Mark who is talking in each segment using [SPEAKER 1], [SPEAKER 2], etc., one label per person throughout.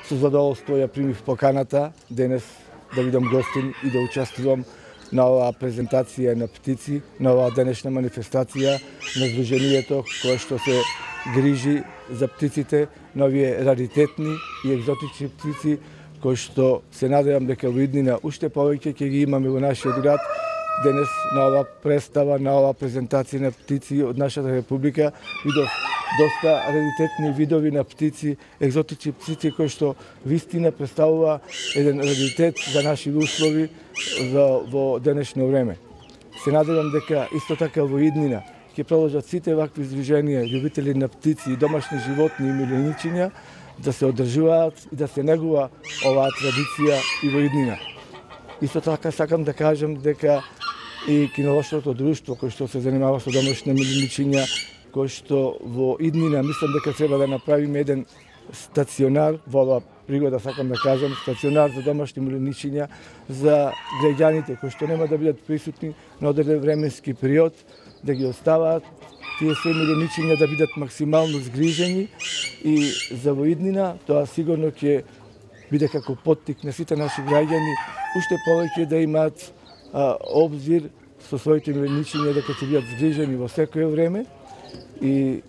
[SPEAKER 1] Со задоволство ја примив поканата денес да бидам гостин и да учествувам на оваа презентација на птици, на оваа денешна манифестација на Сдруженијето кое што се грижи за птиците, на овие раритетни и екзотични птици кои што се надевам дека во иднина уште повеќе ќе ги имаме во нашиот град. Денес на оваа представа, на оваа презентација на птици од нашата република видов доста раритетни видови на птици, екзотични птици кои што вистина представува еден раритет за наши услови во денешно време. Се надевам дека исто така во иднина ќе продолжат сите вакви здруженија, љубители на птици и домашни животни и милениичиња да се одржуваат и да се негува оваа традиција и во иднина. Исто така сакам да кажам дека и кинолошкото друштво кој што се занимава со домашни милениичиња, кој што во иднина мислам дека треба да направиме еден стационар, во оваа пригода сакам да кажам, стационар за домашни милениичиња за граѓаните кои што нема да бидат присутни на одреден временски период, да ги оставаат тие се милениичиња да бидат максимално згрижени и за во иднина тоа сигурно ќе биде како поттик на сите наши граѓани уште повеќе да имаат обзир со своите милениичиња дека ќе бидат згрижени во секое време и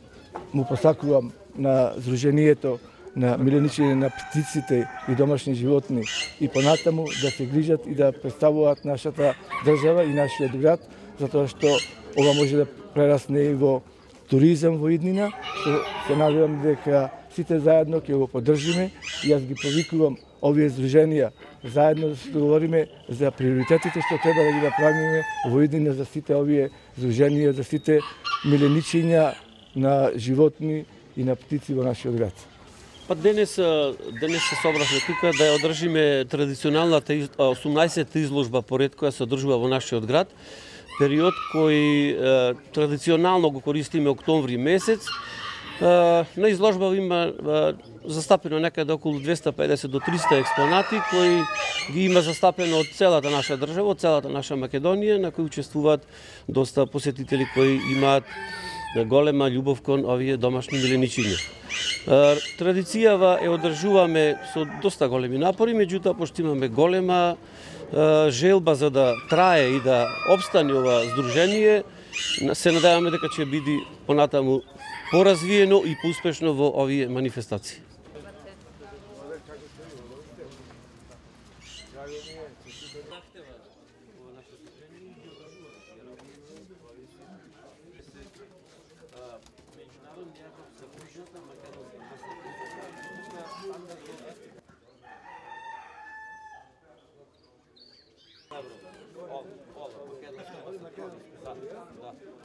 [SPEAKER 1] му посакувам на Сдруженијето на милениичиња на птиците и домашни животни и понатаму да се грижат и да представуваат нашата држава и нашиот град, затоа што ова може да прерасне и во туризам во иднина, што се надевам дека сите заедно ќе го поддржиме и јас ги повикувам овие здруженија заедно да се договориме за приоритетите што треба да ги направиме во иднина за сите овие здруженија, за сите милениичиња на животни и на птици во нашиот град.
[SPEAKER 2] Па денес се собравме тука да ја одржиме традиционалната 18-та изложба поред која се одржува во нашиот град. Период кој традиционално го користиме октомври месец. На изложба има застапено некаде околу 250 до 300 експонати кои ги има застапено од целата наша држава, од целата наша Македонија, на кои учествуваат доста посетители кои имаат голема љубов кон овие домашни милениичиња. Традицијава е одржуваме со доста големи напори, меѓутоа пошто имаме голема желба за да трае и да опстане ова здружение, се надеваме дека ќе биде понатаму поразвиено и поуспешно во овие манифестации.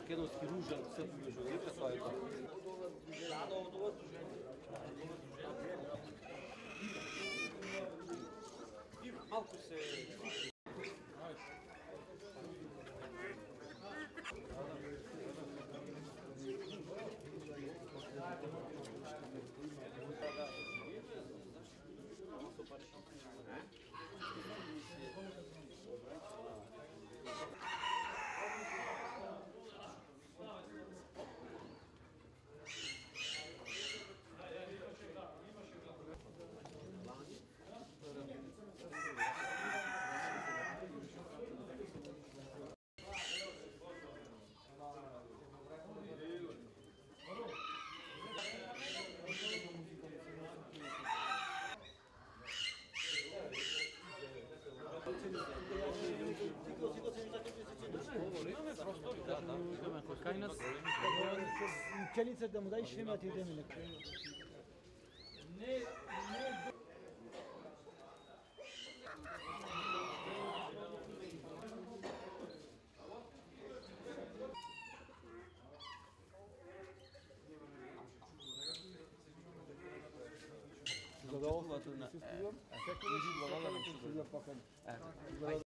[SPEAKER 2] Македонски ружен српски журналист, тоа е тоа. Малку се
[SPEAKER 3] Пчелица да му дај шемата и идеме леко. Задоволството на